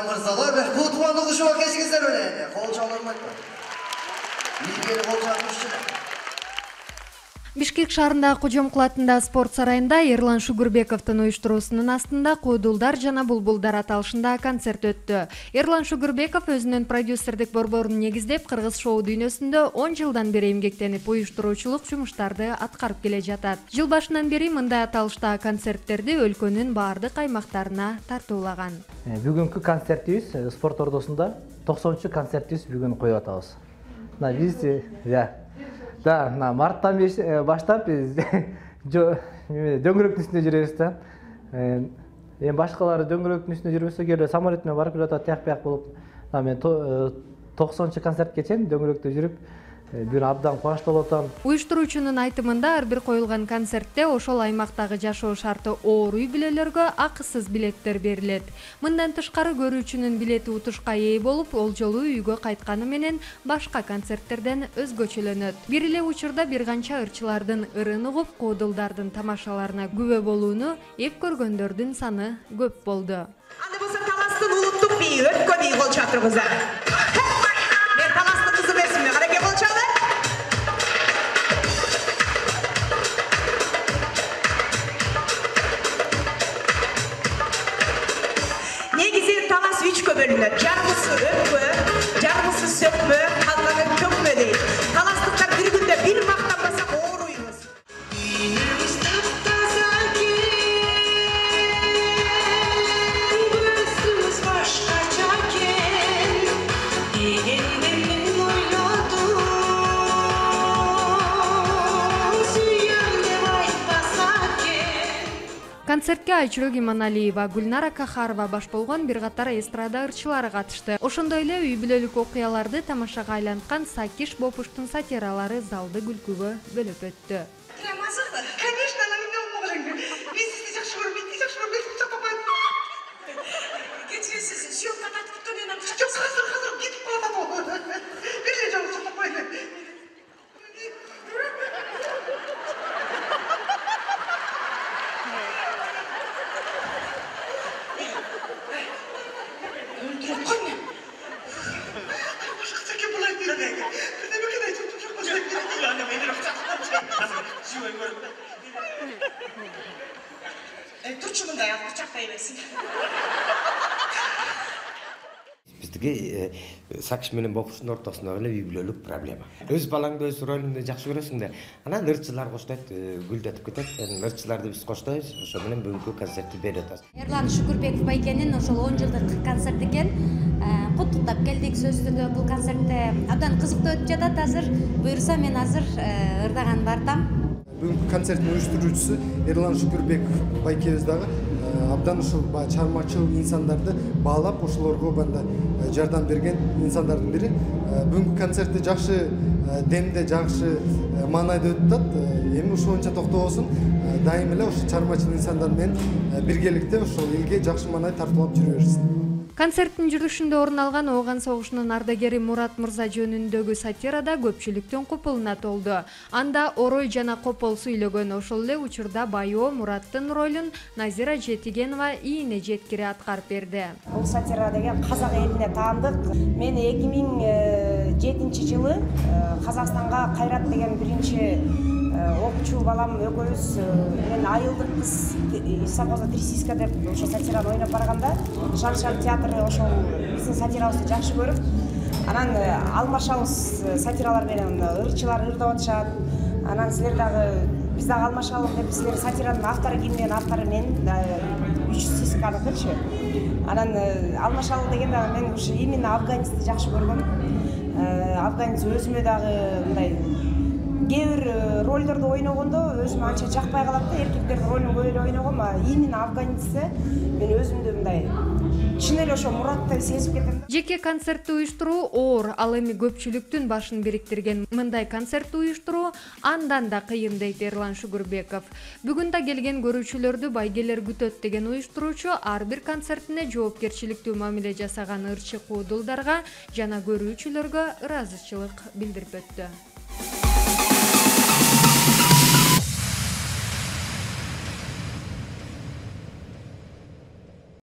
мырзалар, кутмандык ушуга кечиңиздер менен. Кол чалынмайт. Бизге кол чалышчы. Бишкек шаарындагы Кожомкул атындагы спорт сарайында Ерлан Шугурбековдун уюштуруусунун астында Куудулдар жана Булбулдар аталышындагы концерт өттү. Ерлан Шугурбеков өзүнүн продюсердик борборун негиздеп, кыргыз шоу дүйнөсүндө 10 жылдан бери эмгектенип, уюштуруучулук жумуштарды аткарып келе жатат. Жыл башынан бери мындай аталыштагы концерттерди өлкөнүн баардык аймактарына тартуулаган. Бүгүнкү концертибиз спорт ордосунда 90-концертибиз бүгүн коюп атабыз. Да, марттан баштап биз дөңгөрөктүн үстүндө жүрөбүз да. Эми башкалары дөңгөрөктүн үстүндө жүрбөсө келе самолет менен барып жатат, тияк-бияк болуп. Мен 90-концертке чейин дөңгөрөктө жүрүп, бүгүн абдан кубанычтуу болуп атам. Уюштуруучунун айтымында ар бир коюлган концертте ошол аймактагы жашоо шарты оор үй бүлөлөргө акысыз билеттер берилет. Мындан тышкары көрүүчүнүн билети утушка ээ болуп, ол жолу үйгө кайтканы менен башка концерттерден өзгөчөлөнөт. Бир эле учурда бир канча ырчылардын ырын угуп, Куудулдардын тамашаларына күбө болууну эп көргөндөрдүн саны көп болду. Анда болсо Таластын улуттук бийи өткөн бий кол чатырыбыздар. Мен Таластын кызы эмесмин, караке кол чалы. Негизи Талас 3-кө бөлүнөт. Жарымысы өпкө, жарымысы сөкмө, калганы төкмө дейт. Таластыктар бир күндө бир мактанбаса ооруйбуз. Концертке Айчүрөк Иманалиева, Гүлнара Кахарова баш болгон бир катар эстрада ырчылары катышты. Ошондой эле үй бүлөлүк окуяларды тамашага айланткан Сакиш Бопуштун сатиралары залды күлкүгө бөлөп өттү. Конечно, она меня уморит. Мен сизди жакшы көрөм, мен жакшы көрөм, мен кучак тапайм. Кетсеңиз, съемканы айтып туруп, мен кучак. Жок, азыр кетип калат ал. Бир жолу кучак тапайм. Турчу мындай алып кучактай берсин. Биздики Сакиш менен Бопуштун ортосундагы эле үй бүлөлүк проблема. Өз балаңды өз ролуңду жакшы көрөсүң да, анан ырчылар коштойт, гүлдөтүп кетет. Ырчыларды биз коштойбуз, ошо менен бүгүнкү концертти берип атабыз. Ерлан Шугурбеков байкенин ошол 10 жылдык концерт экен. Куттуктап келдик, сөзсүздө бул концертте абдан кызыктуу өтүп жатат азыр. Буюрса мен азыр ырдаган бартам. Бүгүнкү концерттин уюштуруучусу Ерлан Шугурбеков байкебиз дагы абдан ушул чармачыл инсандарды баалап, ошолорго банда жардам берген инсандардын бири. Бүгүнкү концертти жакшы демде, жакшы маанайда өтүп атат. Эми ушул боюнча токтобосун, дайым эле ошо чармачыл инсандар менен биргеликте ошол элге жакшы маанай тартуулап жүрө берсин. Концерттин жүрүшүндө орун алган Ооган согушунун ардагери Мурат Мырза жөнүндөгү сатирада көпчүлүктүн купулуна толду. Анда Орой жана Копол сүйлөгөн, ошол эле учурда Байоо Мураттын ролун Назира Жетигенова ийине жеткире аткарып берди. Бул сатира деген казак элине таандык. Мен 2007-жылы Казакстанга Кайрат деген биринчи окчу балам экөөбүз мен айылдык кыз совхозда Трисиска деп ошо сатираны ойноп барганда Шар театры ошол биздин сатирабызды жакшы көрүп, анан алмашабыз сатиралар менен ырчылар ырдап атышат. Анан силер дагы биз дагы алмашалым деп силер сатиранын автору ким? Автору мен, 3 сисканыкычы. Анан алмашалы дегенде мен ушу именно афганецти жакшы көргөм. Афганец өзүмө дагы мындай кээ бир ролдорду ойногондо өзүмө анча жакпай калат да, эркектердин ролун көп эле ойногом, именно афганецте мен өзүмдү мындай чын эле ошо Мураттай сезип кетем. Жеке концертти уюштуруу оор, ал эми көпчүлүктүн башын бириктирген мындай концертти уюштуруу андан да кыйын дейт Ерлан Шугурбеков. Бүгүн да келген көрүүчүлөрдү байгелер күтөт деген уюштуруучу ар бир концертине жоопкерчиликтүү мамиле жасаган ырчы Куудулдарга жана көрүүчүлөргө ыраазычылык билдирип өттү.